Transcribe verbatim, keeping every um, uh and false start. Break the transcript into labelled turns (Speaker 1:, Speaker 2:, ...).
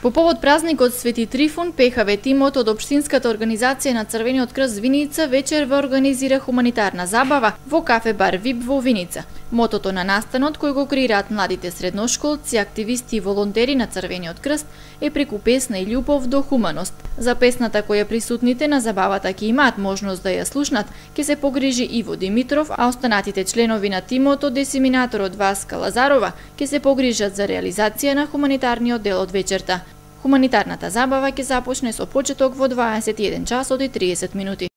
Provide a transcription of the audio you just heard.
Speaker 1: По повод празникот Свети Трифун, ПХВ тимот од Општинската организација на Црвениот крст Виница вечер ве организира хуманитарна забава во кафе бар Вип во Виница. Мотото на настанот, кој го креираат младите средношколци, активисти и волонтери на Црвениот крст, е преку песна и љубов до хуманост. За песната која присутните на забавата ќе имаат можност да ја слушнат, ќе се погрижи Иво Димитров, а останатите членови на тимот од десиминаторот Васка Лазарова ќе се погрижат за реализација на хуманитарниот дел од вечерта. Хуманитарната забава ќе започне со почеток во дваесет и еден часот и триесет минути.